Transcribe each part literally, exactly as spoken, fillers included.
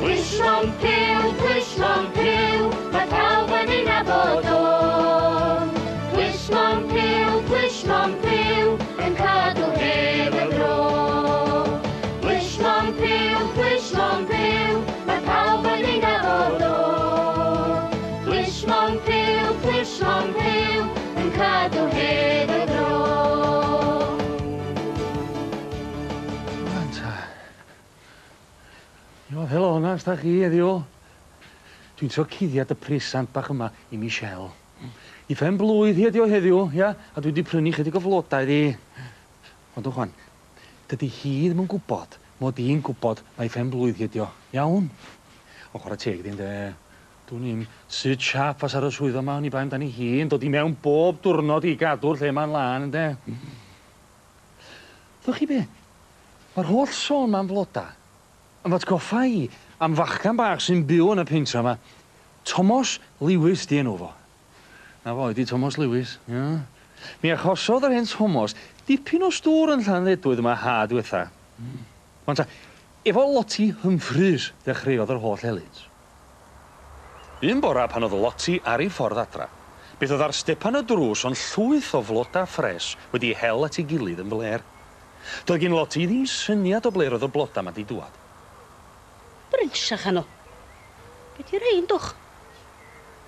Plismon piw, plismon piw, mae pawb yn ei nabod o. Plismon piw, plismon piw, yn cadw hedd y fro. Plismon piw, plismon piw, mae pawb yn ei nabod o. Plismon piw, plismon piw, yn cadw hedd y fro. Jo, helo, na, sta chi heddiw. Dwi'n trio cuddiad y presant bach yma i Michelle. I phen blwydd hi ydi o heddiw, ia, a dwi wedi prynu chydig o flodau iddi. Ond chwan, dydy hi ddim yn gwybod mod i'n gwybod mai phen blwydd hi ydi o. Iawn? O, chwarae teg iddi, ynde. Dwn i'm sut siap fas ar y swyddfa yma, oni bai amdani hi yn dod i mewn bob diwrnod i gadw'r lle ma'n lân, ynde. Ddwch chi be? Mae'r holl sôn ma'n floda yn fy atgoffa i am fachgan bach sy'n byw yn y pentra yma. Thomas Lewis di enw fo. Na fo, ydi Thomas Lewis, ia. Mi achosodd yr hen Thomas dipyn o stŵr yn Llanddedwydd yma ha diwetha. Wan ta, efo Lottie Humphreys ddechreuodd yr holl helynt. Un bora pan oedd Lottie ar ei ffordd adra, beth oedd ar stepan y drws ond llwyth o floda ffres wedi hel at ei gilydd yn flêr. Doedd gen Lottie ddim syniad o ble roedd y bloda 'ma di dŵad. Brynsiach anw. Be di rhain, dwch?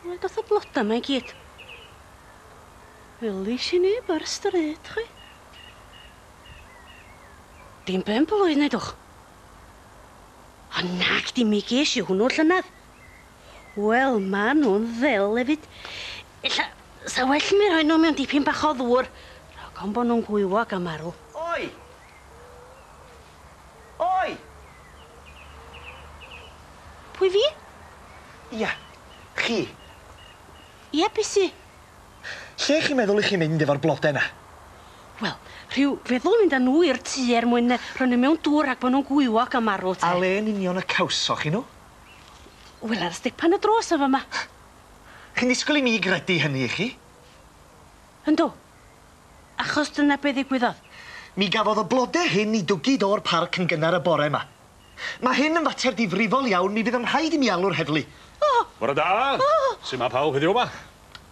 Wel, doth y bloda 'ma i gyd. Welis i neb ar y stryd, chwi. Dim ben blwydd, neu dwch. O nag, dim mi ges i hwnnw llynedd. Wel, ma nhw'n ddel hefyd. Ella, sa well mi rhoi nhw mewn dipyn bach o ddŵr. Rhag ofn bo nhw'n gwywo ac am marw. Oi! Oi! Pwy fi? Ia, chi. Ia, be sy? Lle chi'n meddwl i chi mynd efo'r blodau 'na? Wel, rhyw feddwl mynd â nhw i'r tŷ er mwyn rhoi nhw mewn dŵr rhag bod nhw'n gwywo ac am marw te. A le yn union y cawsoch chi nhw? Wel, ar stepan y drws yn fama. Chi'n disgwyl i mi gredu hynny i chi? Yndw. Achos dyna be ddigwyddodd. Mi gafodd y blodau hyn i dwgyd o'r parc yn gynnar y bore yma. Mae hyn yn fater difrifol iawn, mi fydd yn rhaid i mi alw'r heddlu. Oh. Bore da! Oh. Sut mae pawb heddiw yma?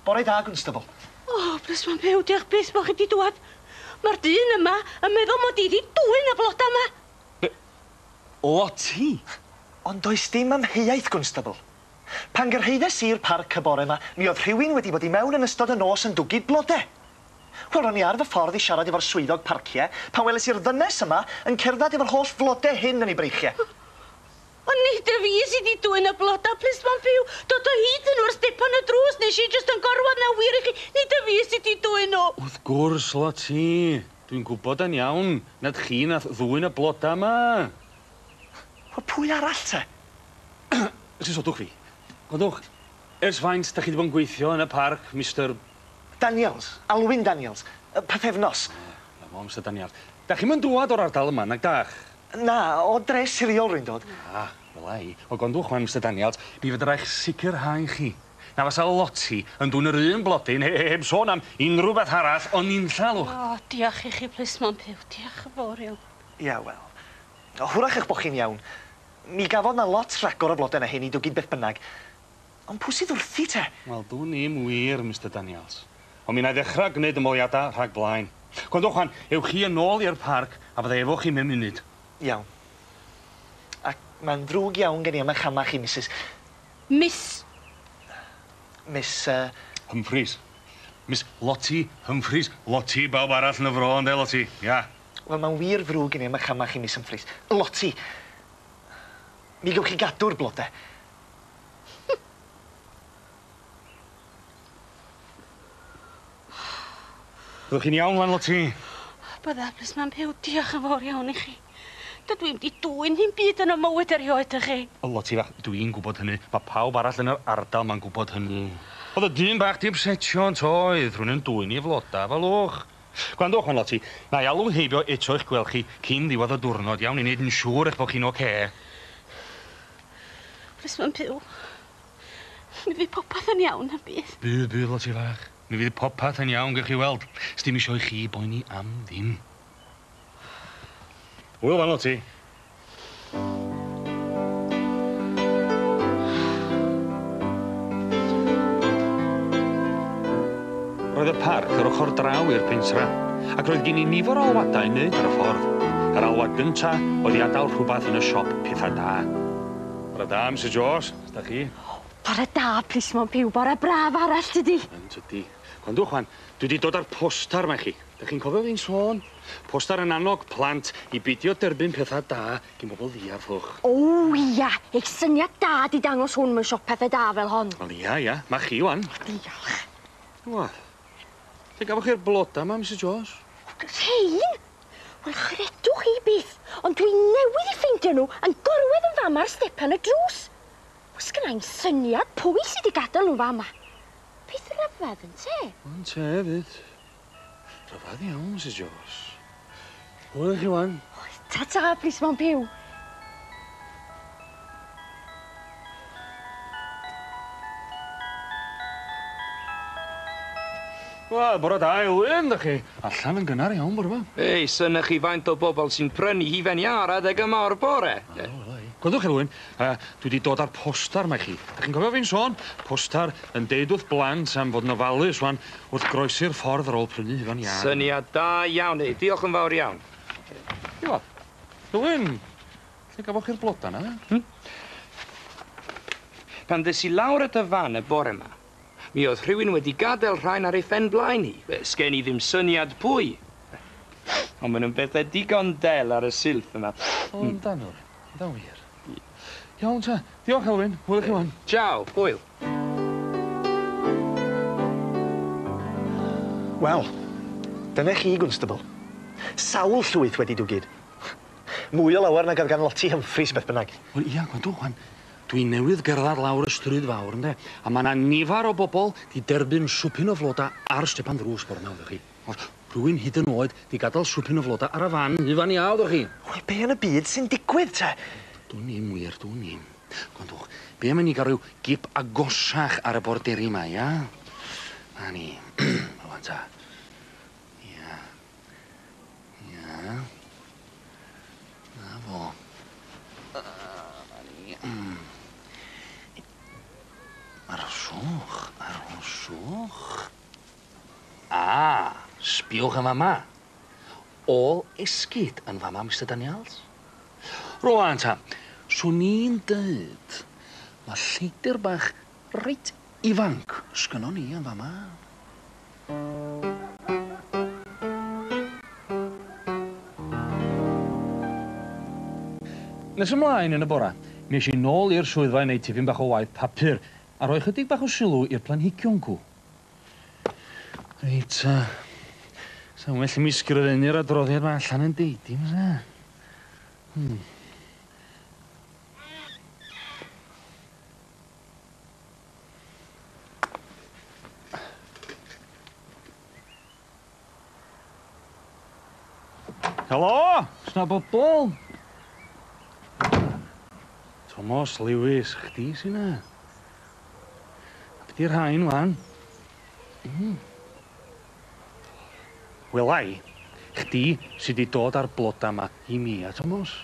Bore da, Gwnstabl. O, oh, plismon byw, diolch byth bo' chi di dŵad. Mae'r dyn yma yn meddwl mod i di dwyn y bloda yma. Be? Lottie? Ond does dim amheuaeth, Gwnstabl. Pan gyrhaeddes i'r parc y bore yma, mi oedd rhywun wedi bod i mewn yn ystod y nos yn dwgyd blodau. Wel, ro'n i ar fy ffordd i siarad efo'r swyddog parciau pan weles i'r ddynes yma yn cerdded efo'r holl flodau hyn yn ei breichiau. Ond nid y fi sydd wedi dwyn y blodau, plismon byw. Dod o hyd yn nhw ar stepan y drws, nes i jyst yn gorwedd na wir i chi. Nid y fi sydd wedi dwyn nhw. Wrth gwrs, Lottie. Dwi'n gwybod yn iawn nad chi nath ddwyn y blodau yma. Wel, pwy arall te? Sysodwch fi. Gwrandwch, ers faint da chi wedi bod yn gweithio yn y parc, Mister Daniels, Alwyn Daniels, pythefnos. Na fo, Mister Daniels. Da chi'm yn dŵad o'r ardal yma, nag dach? Na, o dre Siriol rwy'n dod. Ah, wela i. O, gwrandwch wan, Mister Daniels, mi fedra i'ch sicrhau chi. Na fasa Lottie yn dwyn yr un blodyn, heb sôn am unrhyw beth arall, ond unlla, lwch. O, diolch i chi, plismon byw. Diolch yn fawr iawn. Ia, wel. Hwrach eich bod chi'n iawn. Mi gafodd na lot rhagor o blodau na hyn i dwgyd beth bynnag. Ond pwy sydd wrthi te? Wel, dwn i'm wir, Mister Daniels. Ond mi wna i ddechrau gwneud ymholiadau rhag blaen. Gwrandwch wan, ewch chi yn ôl i'r parc a fydda efo chi mewn munud. Iawn. Ac mae'n ddrwg iawn gen i am eich chamau chi, Missus Miss... Miss... Uh... Humphreys. Miss Lottie Humphreys. Lottie bawb arall yn y fro, ynde, Lottie? Ia. Wel, mae'n wir ddrwg gen i am eich chamau chi, Miss Humphreys. Lottie. Mi gewch chi gadw'r blodau. Byddwch chi'n iawn, wan, Lottie? Bydda, plismon byw, diolch yn fawr iawn i chi. Dydw i'm di dwyn hi'n byd yn y mywyd erioed i chi. O, Lottie fach, dwi'n gwybod hynny. Mae pawb arall yn yr ardal ma'n gwybod hynny. Oedd y dyn bach di upsetio yn toedd, rhywun yn dwyn i floda fel wch. Gwrandwch, wan, Lottie, na i alw heibio eto i'ch gweld chi cyn ddiwedd y diwrnod, iawn, i wneud yn siŵr eich bod chi'n ocê. Plismon byw, mi fydd popeth yn iawn yn bydd. Bydd, bydd, Lottie fach. Mi fydd popeth yn iawn, gewch chi weld. Sdim isio i chi boeni am ddim. Hwyl fan, Lottie. Roedd y parc yr ochr draw i'r pentra, ac roedd gen i nifer o alwadau i wneud ar y ffordd. Yr alwad gynta oedd i adael rhywbeth yn y siop pethau da. Bore da, Misus Jones, da chi? Bore da, plismon Piw, bore braf arall tydi. Yn tydi. Gwrandwch wan, dwi wedi dod â'r postar 'ma i chi. Da chi'n cofio fi'n sôn? Postar yn annog plant i beidio derbyn pethau da gin bobl ddiarth. O ia, eich syniad da di dangos hwn mewn siop pethau da fel hon. Wel ia, ia, ma chi wan. Diolch. Wel, lle gafoch chi'r bloda 'ma, Misus Jones? Rhein? Wel, chredwch chi byth, ond dwi newydd i ffeindio nhw yn gorwedd yn fama ar stepan y drws. Oes gynna i'm syniad pwy sydd wedi gadael nhw fama. Peth rhyfedd yn te? Yn te hefyd. Rhyfedd iawn, Misus Jones. Hwyl i chi wan. Ta-ta, plismon Piw. Wel, bore da, Elwyn, da chi allan yn gynnar iawn bore 'ma. Ei, synnach chi faint o bobl sy'n prynu hufen iâ ar adeg yma o'r bore. Gwrandwch, Elwyn, uh, dwi wedi dod â'r postar 'ma i chi. Da chi'n cofio fi'n sôn? Postar yn deud wrth blant am fod yn ofalus wan wrth groesi'r ffordd ar ôl prynu hufen iâ. Syniad da iawn, ei. Diolch yn fawr iawn. Iwa, Elwyn, lle gafoch chi'r bloda 'na? Hmm? Pan ddes i lawr at y fan y bore 'ma, mi oedd rhywun wedi gadael rhain ar ei phen blaen hi. Sgen i ddim syniad pwy. Ond maen nhw'n bethau digon del ar y silff yma. O, yndan nhw, yndan wir. Iawn ta, diolch Elwyn, hwyl i chi wan. Ciao, hwyl. Wel, dyna chi, Gwnstabl. Sawl llwyth wedi dwgyd. Mwy o lawer nag oedd gan Lottie Humphreys beth bynnag. Wel, ia, gwrandwch wan. Dwi newydd gerdded lawr y stryd fawr, ynde? A mae yna nifer o bobl di derbyn swpyn o floda ar stepan ddrws bore 'ma, ydych chi. Rhywun hyd yn oed di gadael swpyn o floda ar y fan, hufen iâ, ydych chi. Wel, be yn y byd sy'n digwydd, te? Dwn i'm wir, dwn i'm. Gwrandwch, be am i ni gael rhyw gip agosach ar y borderi 'ma, ia? Na ni. Rwan ta. Ia. Ia. Na fo. Na ni. Arhoswch, arhoswch. A, sbiwch yn fama. Ôl esgid yn fama, Mister Daniels. Rwan ta, swn i'n deud, mae lleidr bach reit ifanc sgynnon ni yn fama. Nes ymlaen yn y bora, mi es i nôl i'r swyddfa i wneud tipyn bach o waith papur a rhoi chydig bach o sylw i'r planhigion cw. Reit, uh, sa'n well i mi sgrifennu'r adroddiad 'ma allan yn deud i, fysa? Hmm. Helo, sna bobl? Tomos Lewis, chdi sy 'na? A be 'di'r rhain wan? Mm. Wela i, chdi sy 'di dod â'r bloda 'ma i mi, a Tomos.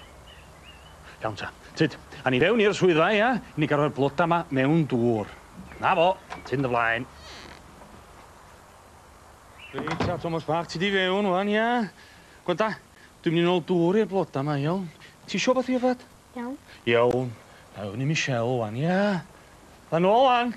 Iawn ta, tyd, a ni fewn i'r swyddfa, ia? I ni gael rhoi'r bloda 'ma mewn dŵr. Na fo, tyn dy flaen. Reit ta, Tomos bach, ti di fewn wan, ia? Gwanda, dwi'n mynd i nôl dŵr i'r bloda 'ma, iawn? Ti isio wbath i yfed? Iawn. Iawn. Na fewn i Michelle wan, ia? Na nôl wan.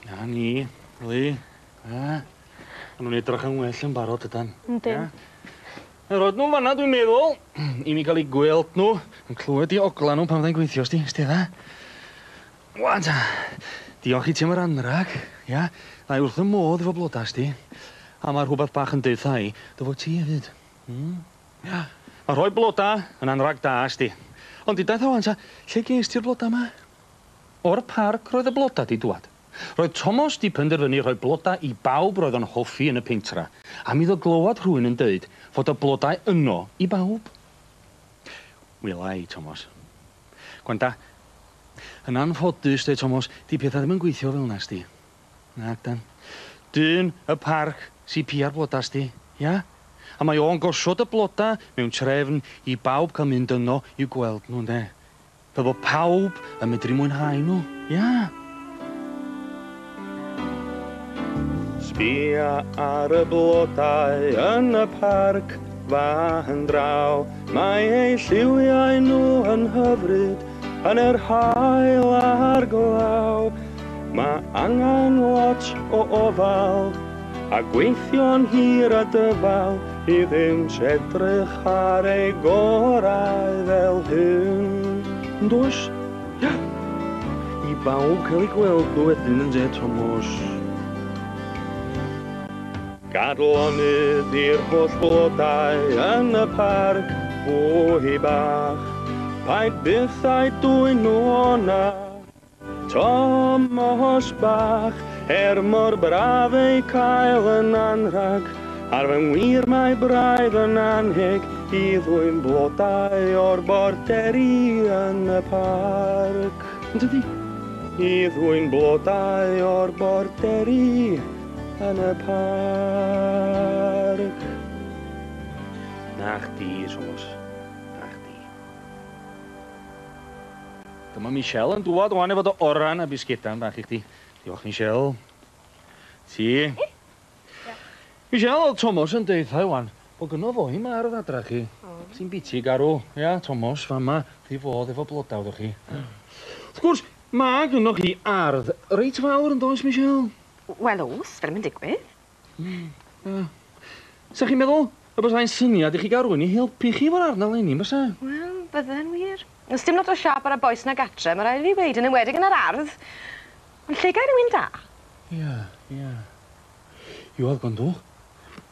Na ni, Lee. A, ma' nhw'n edrych yn well yn barod ydan. Yndyn. A roed nhw'n fanna, dwi'n meddwl, i mi gael eu gweld nhw, yn clywed i ogla nhw pan fyddai'n gweithio, sti, sti dda. Wan ta, diolch i ti am yr anrag, ia? Na i wrth y modd efo bloda, sti. A mae rhywbeth bach yn deutha i, dy fod ti hefyd. Mm. Ia. Mae rhoi bloda yn anrag da, sti. Ond di daeth o wan ta, lle ges ti'r bloda yma? O'r parc roedd y bloda di dŵad. Roedd Tomos di penderfynu rhoi bloda i bawb roedd o'n hoffi yn y pentra, a mi iddo glywad rhywun yn deud fod y blodau yno i bawb. Wela i, Tomos. Gwanda, yn anffodus, deud Tomos, di pethau ddim yn gweithio fel 'na, sti. Nag dan. Dyn y parc sy pia'r bloda sti, ia? A mae o'n gosod y bloda mewn trefn i bawb cael mynd yno i'w gweld nhw, ynde? Fel bod pawb yn medru mwynhau nhw, ia? Sbia ar y blodau yn y parc fan draw. Mae eu lliwiau nhw yn hyfryd yn yr haul a'r glaw. Mae angen lot o ofal a gweithio'n hir a dyfal i ddim edrych ar ei gorau fel hyn. Yn does? Ia. I bawb cael ei gweld nhw wedyn yn de, Tomos. Gad lonydd i'r holl blodau yn y parc fwy bach. Paid byth â'i dwyn nhw o'na, Tomos bach. Er mor braf eu cael yn anrhag, ar fy ngwir mae braidd yn anheg i ddwyn blodau o'r borderi yn y parc. Yn dydi? I ddwyn blodau o'r borderi yn y parc. Na chdi, Tomos. Na chdi. Dyma Michelle yn dŵad wan efo dy oran a bisgedan bach i chdi. Diolch, Michelle. Ti? Michelle, oedd Tomos yn deud tha wan bod gynno fo i'm ardd adra chi. Ti'n biti garw. Ia, Tomos, fama, chi fod efo blodau, ddwch chi. Wrth gwrs, ma' gynno chi ardd reit fawr yn does, Michelle? Wel, oes, fel mae'n digwydd. Mm. Sa chi'n meddwl y bysai'n syniad i chi gael rhywun i helpu chi efo'r ardd 'na leni, bysa? Wel, bydde'n wir. Oes dim lot o siâp ar y bois 'na gatre, mae rhaid i fi weud, yn enwedig yn yr ardd. Ond lle gai rhywun da? Ia, ia. Iwan, gwrandwch.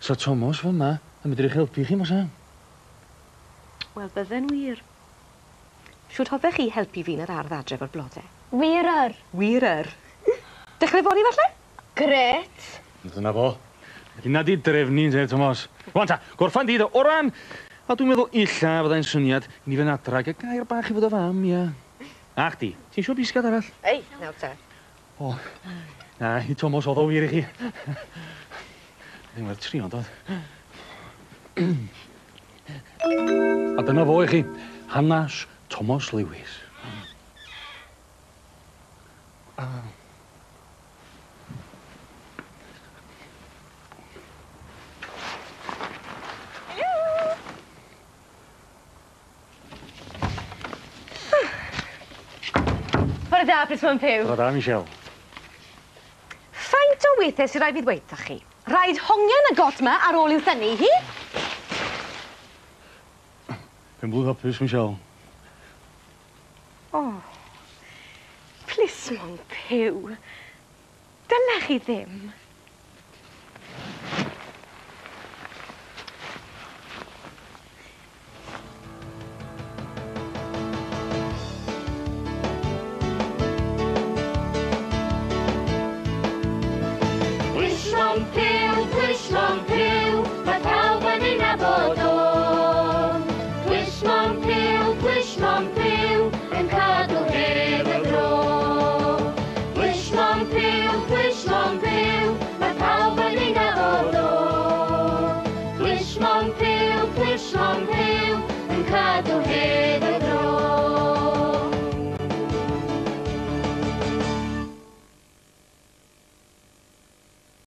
Sa Tomos fama yn medru helpu chi, bysa? Wel, bydde'n wir. Siwt hoffech chi helpu fi yn yr ardd adre efo'r blodau? Wir yr. Wir yr. Dechrau fory, falle? Grêt. Dyna fo. Dyna di drefnu, te, Tomos. Rwan ta, gorffan di dy oran. A dwi'n meddwl illa fyddai'n syniad i ni fynd adra ag y gair bach i fod o fam, ia. A chdi, ti'n isio bisged arall? Ei, nawr te. O, na, i Tomos oedd o wir i chi. Ddim werth trio, doedd. A dyna fo i chi, hanas Tomos Lewis. A... Bore da, Plismon Puw. Bore da, Michelle. Faint o weithiau sy'n rhaid fi ddweud wrthoch chi? Rhaid hongian y got 'ma ar ôl i'w thynnu hi. Pen blwydd hapus, Michelle. O, Plismon Puw. Dylech chi ddim.